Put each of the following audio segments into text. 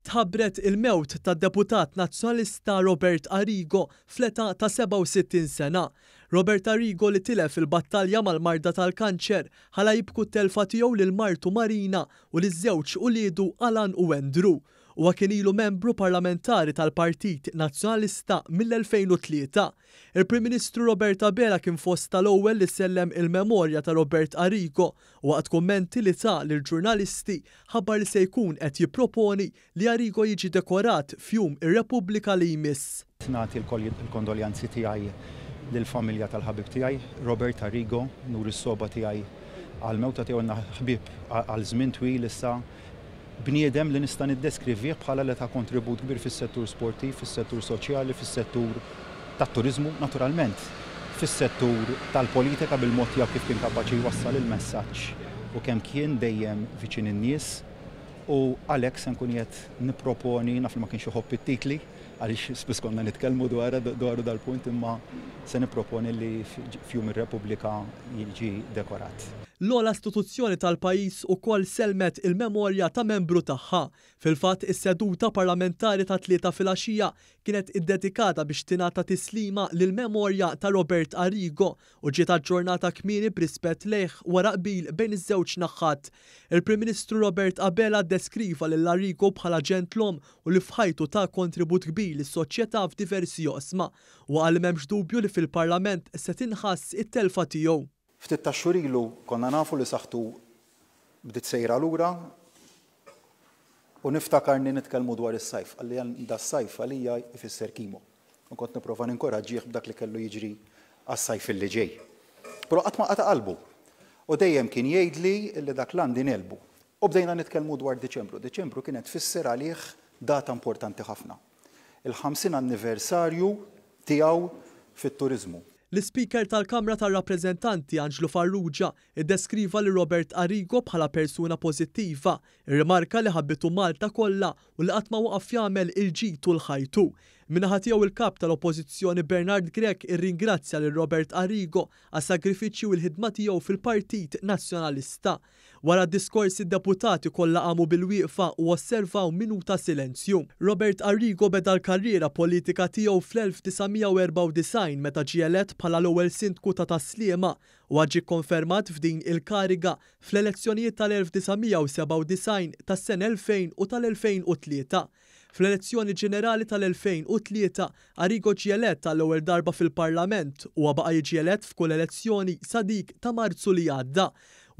Tħabbret il-mewt tad-deputat Nazzjonalista Robert Arrigo fl-età ta' 67 sena. Robert Arrigo li tilef il-battalja mal-marda tal-kanċer, ħala jibku t-telfa tiegħu lil martu Marina u liż-żewġ uliedu Alan u Andrew. Huwa kien ilu membru parlamentari tal-Partit Nazzjonalista mill-2003. Il-Prim Ministru Robert Abela kien fost tal-ewwel li sellem il-memorja ta' Robert Arrigo u waqt kummenti li ta lill-ġurnalisti ħabbar li se jkun qed jipproponi li Arrigo jiġi dekorat f'Jum ir-Repubblika li jmiss. Nagħti l-kondoljanzi tiegħi lill-familja tal-ħabib tiegħi, Robert Arrigo, nuri s-sogħba tiegħi għall-mewta tiegħu. Ilna ħbieb għal żmien twil issa, bniedem li nista' niddeskrivih bħala li ta kontribut kbir fis-settur sportiv, fis-settur soċjali, fis-settur tat-turiżmu, naturalment fis-settur tal-politika bil-mod tiegħu kif kien kapaċi jwassal il-messaġġ u kemm kien dejjem viċin in-nies. U għalhekk se nkun qiegħed nipproponi, naf li ma kienx iħobb it-titli għaliex spiss konna nitkellmu dwaru dal-punt, imma se nipproponi li f'Jum ir-Repubblika jiġi dekorat. L-ogħla istituzzjoni tal-pajjiż ukoll sellmet il-memorja ta' membru tagħha. Fil-fatt, is-seduta parlamentari tat-Tlieta filgħaxija kienet iddedikata biex tingħata tislima lill-memorja ta' Robert Arrigo u ġiet aġġornata kmieni b'rispett lejh wara qbil bejn iż-żewġ naħat. Il-Prim Ministru Robert Abela ddeskriva lil Arrigo bħala ġentlom u li f'ħajtu ta kontribut kbir lis-soċjetà f'diversi oqsma. U qal li m'hemmx dubju li fil-Parlament se tinħass it-telfa tiegħu. Ftit tax-xhur ilu konna nafu li saħħtu bdiet sejra lura u niftakarni nitkellmu dwar is-sajf. Qalli da s-sajf għalija jfisser chemo. U kont nipprova ninkoraġġih b'dak li kellu jiġri għas-sajf li ġej. Però qatt ma qata' qalbu. U dejjem kien jgħidli li dak l-għandi negħlbu. U bdejna nitkellmu dwar Diċembru. Diċembru kienet tfisser għalih data importanti ħafna. Il-50 anniversarju tiegħu fit-turiżmu. L-Ispeaker tal-Kamra tar-Rappreżentanti Anġlu Farrugia iddeskriva lil Robert Arrigo bħala persuna pożittiva, irrimarka li ħabbitu Malta kollha u li qatt ma waqaf jagħmel il-ġid tul ħajtu. Min-naħa tiegħu, il-Kap tal-Oppożizzjoni Bernard Grech irringrazzja lil Robert Arrigo għas-sagrifiċċji u l-ħidma tiegħu fil-Partit Nazzjonalista. Wara d-diskors, id-deputati kollha qamu bil-wieqfa u osservaw minuta silenzju. Robert Arrigo beda l-karriera politika tiegħu fl-1994 meta ġie elett bħala l-ewwel sindku ta' Tas-Sliema u ġie kkonfermat f'din il-kariga fl-elezzjonijiet tal-1997, tas-sena 2000 u tal-2003. Fl-elezzjoni ġenerali tal-2003, Arrigo ġie elett għall-ewwel darba fil-Parlament u baqa' jiġi elett f'kull elezzjoni sa dik ta' Marzu li għadda.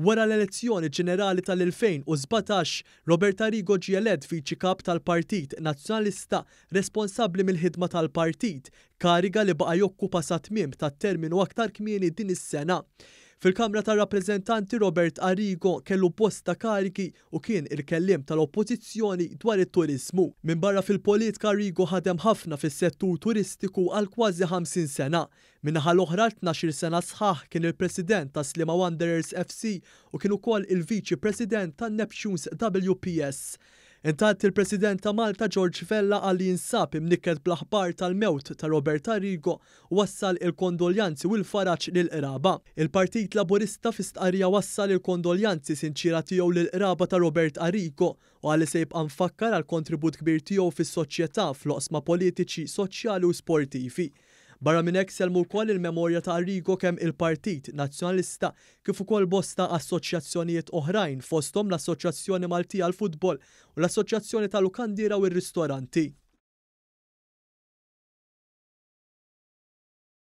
Wara l-elezzjoni ġenerali tal-2017, Robert Arrigo ġie elett viċi kap tal-Partit Nazzjonalista responsabbli mill-ħidma tal-partit, kariga li baqa' jokkupa sa tmiem tat-terminu aktar kmieni din is-sena. Fil-Kamra tar-Rappreżentanti, Robert Arrigo kellu bosta karigi u kien il-kelliem tal-Oppożizzjoni dwar it-turiżmu. Minbarra fil-politika, Arrigo ħadem ħafna fis-settur turistiku għal kważi 50 sena. Min-naħa l-oħra, 12 sena sħaħ kien il-President ta' Sliema Wanderers FC u kien ukoll il-Viċi President tan Neptunes WPS. Intant, il-President ta' Malta George Vella qal li jinsab imnikket bl-aħbar tal-mewt ta' Robert Arrigo u wassal il-kondoljanzi u l-faraġ lill-qraba. Il-Partit Laburista fi stqarrija wassal il-kondoljanzi sinċiera tiegħu lill-qraba ta' Robert Arrigo u qal li se jibqa' mfakkar għal kontribut kbir tiegħu fis-soċjetà fl-oqsma politiċi, soċjali u sportivi. Barra minn hekk, sellmu wkoll il-memorja ta' Arrigo kemm il-Partit Nazzjonalista kif ukoll bosta assoċjazzjonijiet oħrajn, fosthom l-Assoċjazzjoni Maltija għall-Futbol u l-Assoċjazzjoni tal-Lukandiera u r-Ristoranti.